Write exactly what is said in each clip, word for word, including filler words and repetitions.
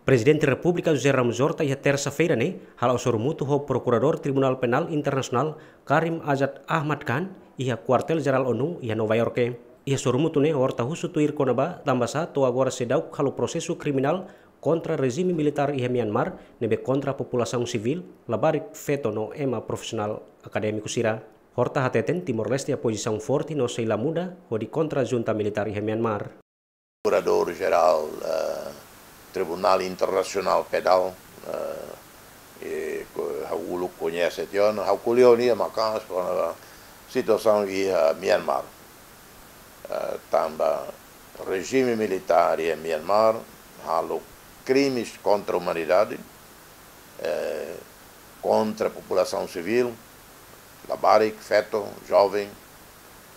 Prezidente Repúblika José Ramos Horta iha tersa-feira ne'e hala'o sorumutu ho Prokuradór Tribunál Penál Internasionál Karim Azad Ahmad Khan iha Kuartél Jerál ONU iha Nova Iorke. Iha sorumutu ne'e Horta husu tuir kona-ba tanbasá to'o agora seidauk halo prosesu kriminál kontra rejime militár iha Myanmar ne'ebé kontra populasaun sivíl, labarik feto no ema profisionál akadémiku sira. Horta hateten Timor-Leste iha pozisaun forte no sei la muda hodi kontra junta militár iha Myanmar. Prokuradór Jerál, eh, Tribunál Internasionál Penál, eh, i ko-, ha'u uluk koñese tiha ona, ha'u ko'alia ona iha maka'as kona-ba situasaun iha Myanmar. Eh, tanba rejime militár iha Myanmar halo krimes kontra umanidade, eh, kontra populasaun sivíl, labarik, feto, joven,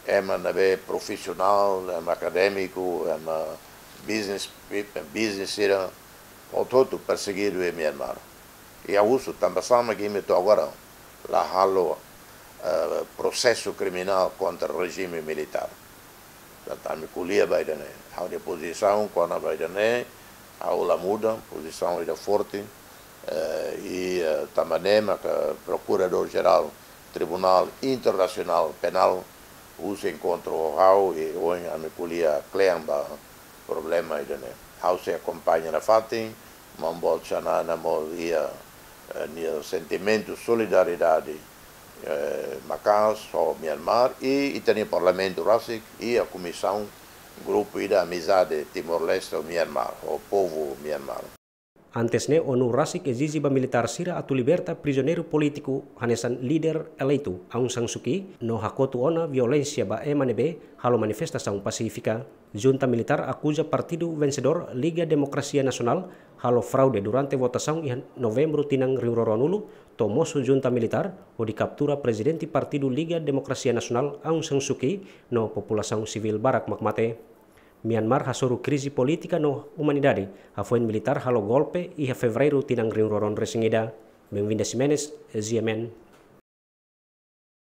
ema ne'ebé profisionál, ema akadémiku, ema business peop-, business sira, hotu-hotu persegidu iha Myanmar. I ha'u husu tanbasá mak imi to'o agora la halo, eh, prosesu kriminál kontra rejime militár. Tanba ami ko'alia ba ida-ne'e. Ha'u-nia pozisaun kona-ba ida-ne'e, ha'u la muda, pozisaun ida forte, eh, i, eh, tanba ne'e maka Prokuradór Jerál Tribunál Internasionál Penál husu enkontru ho ha'u i ohin ami ko'alia kle'an ba problema ida-ne'e. Ha'u sei akompaña nafatin, maun boot Xanana mós iha, eh, nia sentimentu solidariedade, eh, maka'as ho Myanmar i ita-nia Parlamentu rasik iha komisaun grupu ida amizade Timor-Leste ho Myanmar, ho povu Myanmar. Antes ne'e ONU rasik ezije ba militár sira atu liberta prizioneiru polítiku hanesan líder eleitu Aung San Suu Kyi no hakotu ona violénsia ba ema ne'ebé halo manifestasaun pasífika. Junta militár akuza partidu vensedór Liga Demokrasia Nasionál halo fraude durante votasaun iha Novembru tinan rihun rua ruanulu, to'o mosu junta militár hodi kaptura prezidente partidu Liga Demokrasia Nasionál Aung San Suu Kyi no populasaun sivíl barak mak mate. Myanmar hasoru krize polítika no umanidade hafoin militár halo golpe iha Fevereiru tinan rihun rua ruanulu-resin-ida. Benvinda Ximenes, G M N.